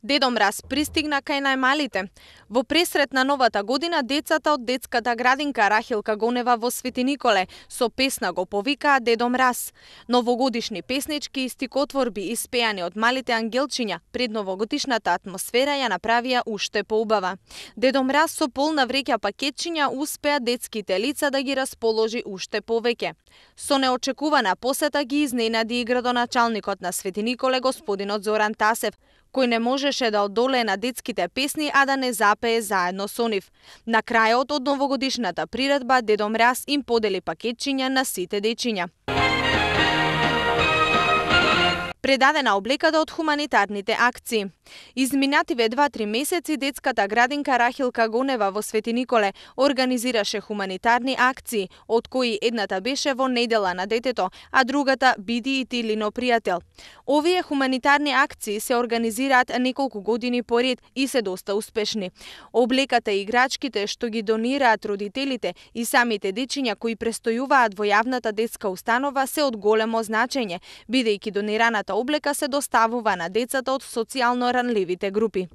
Дедо Мраз пристигна кај најмалите. Во пресрет на новата година, децата од детската градинка Рахилка Гонева во Свети Николе со песна го повикаа Дедо Мраз. Новогодишни песнички и стикотворби испеани од малите ангелчиња пред новогодишната атмосфера ја направија уште поубава. Дедо Мраз со полна вреќа пакетчиња успеа детските лица да ги расположи уште повеќе. Со неочекувана посета ги изненади и градоначалникот на Свети Николе господинот Зоран Тасев, кој не можеше да одолее на детските песни, а да не запее заедно со нив. На крајот од новогодишната приредба, Дедо Мраз им подели пакетчиња на сите дечиња. Предадена облеката од хуманитарните акции. Изминативе 2-3 месеци детската градинка Рахилка Гонева во Свети Николе организираше хуманитарни акции, од кои едната беше во недела на детето, а другата Биди и ти Лино пријател. Овие хуманитарни акции се организираат неколку години поред и се доста успешни. Облеката и играчките што ги донираат родителите и самите дечиња кои престојуваат во јавната детска установа се од големо значење, бидејќи донираната облека се доставува на децата од социјално ранливите групи.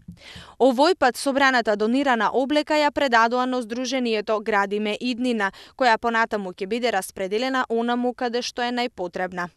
Овој пат собраната донирана облека ја предадоа на Сдруженијето Градиме иднина, која понатаму ќе биде распределена онаму каде што е најпотребна.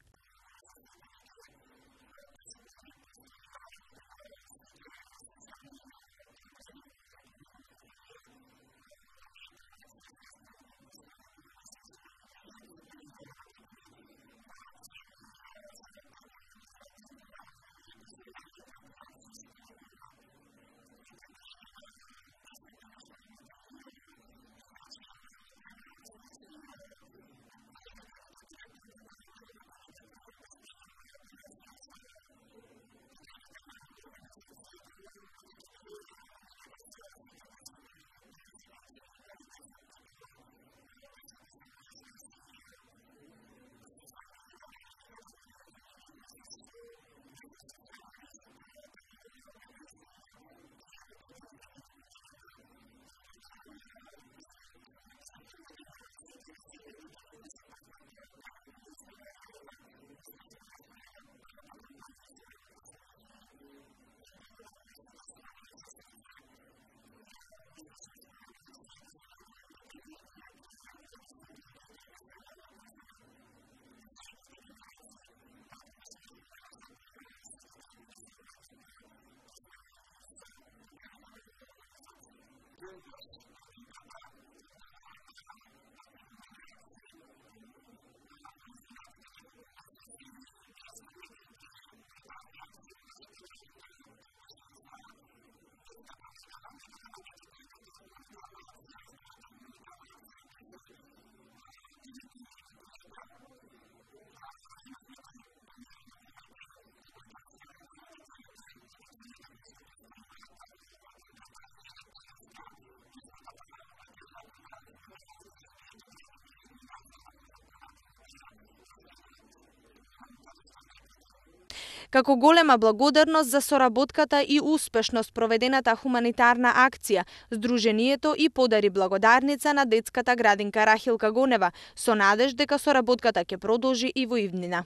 Како голема благодарност за соработката и успешно спроведената хуманитарна акција, Сдруженијето и подари благодарница на детската градинка Рахилка Гонева, со надеж дека соработката ќе продолжи и во иднина.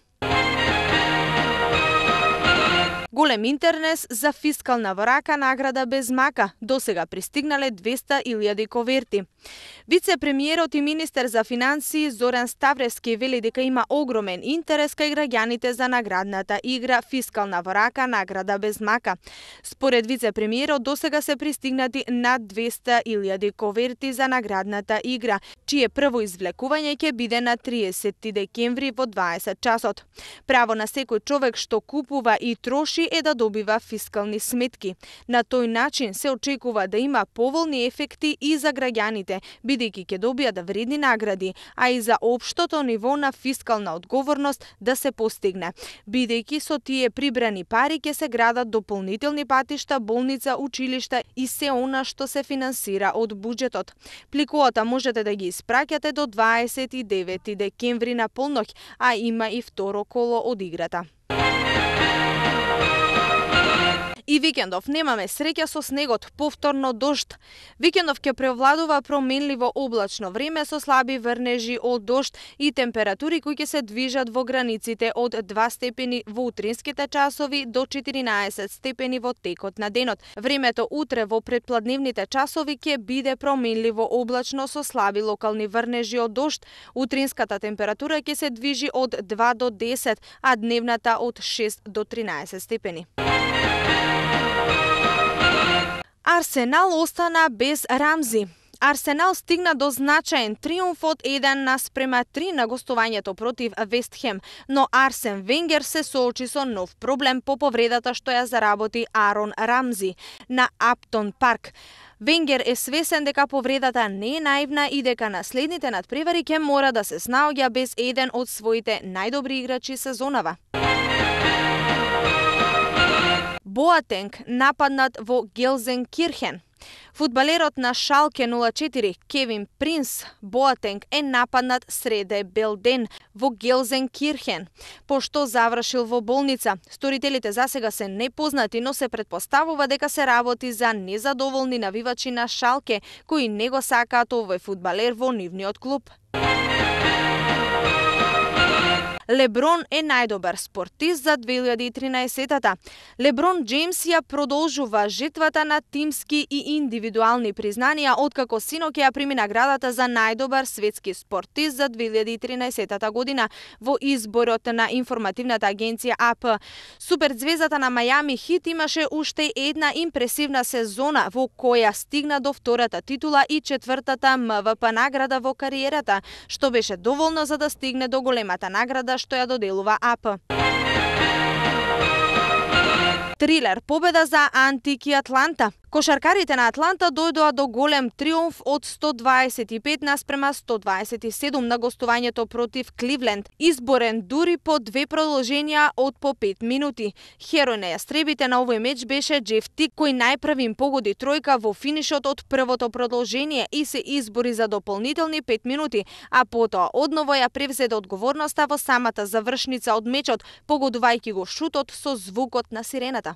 Голем интерес за фискална врака награда без мака. Досега пристигнале 200.000 коверти. Вице-премиерот и министер за финансии Зоран Ставревски вели дека има огромен интерес кај граѓаните за наградната игра Фискална врака награда без мака. Според вице-премиерот досега се пристигнати над 200.000 коверти за наградната игра, чие прво извлекување ќе биде на 30 декември во 20 часот. Право на секој човек што купува и троши е да добива фискални сметки. На тој начин се очекува да има поволни ефекти и за граѓаните, бидејќи ќе добијат вредни награди, а и за општото ниво на фискална одговорност да се постигне, бидејќи со тие прибрани пари ќе се градат дополнителни патишта, болница, училишта и се она што се финансира од буџетот. Пликуата можете да ги испраќате до 29 декември на полноќ, а има и второ коло од играта. И викендов немаме среќа со снегот, повторно дожд. Викендов ќе превладува променливо облачно време со слаби врнежи од дожд и температури кои ќе се движат во границите од 2 степени во утринските часови до 14 степени во текот на денот. Времето утре во предпладневните часови ќе биде променливо облачно со слаби локални врнежи од дожд. Утринската температура ќе се движи од 2 до 10, а дневната од 6 до 13 степени. Арсенал остана без Рамзи. Арсенал стигна до значаен триумф од 1:3 на гостувањето против Вест Хем, но Арсен Венгер се соочи со нов проблем по повредата што ја заработи Арон Рамзи на Аптон Парк. Венгер е свесен дека повредата не е наивна и дека наследните надпревари ќе мора да се снаоѓа без еден од своите најдобри играчи сезонава. Боатенг нападнат во Гелзенкирхен. Фудбалерот на Шалке 04 Кевин Принс Боатенг е нападнат среде белден во Гелзенкирхен, пошто завршил во болница. Сторителите засега се непознати, но се претпоставува дека се работи за незадоволни навивачи на Шалке кои не го сакаат овој фудбалер во нивниот клуб. Леброн е најдобар спортист за 2013-та. Леброн Джеймс ја продолжува жетвата на тимски и индивидуални признанија откако синоќ ја прими наградата за најдобар светски спортист за 2013 година во изборот на информативната агенција АП. Суперзвездата на Мајами Хит имаше уште една импресивна сезона во која стигна до втората титула и четвртата МВП награда во кариерата, што беше доволно за да стигне до големата награда што ја доделува АП. Трилер победа за Антики Атланта. Кошаркарите на Атланта дојдоа до голем триумф од 125:127 на гостувањето против Кливленд, изборен дури по 2 продолженија од по 5 минути. Херој на јастребите на овој меч беше Джеф Тик, кој најпрвим погоди тројка во финишот од првото продолжение и се избори за дополнителни 5 минути, а потоа одново ја превзеде одговорноста во самата завршница од мечот, погодувајќи го шутот со звукот на сирената.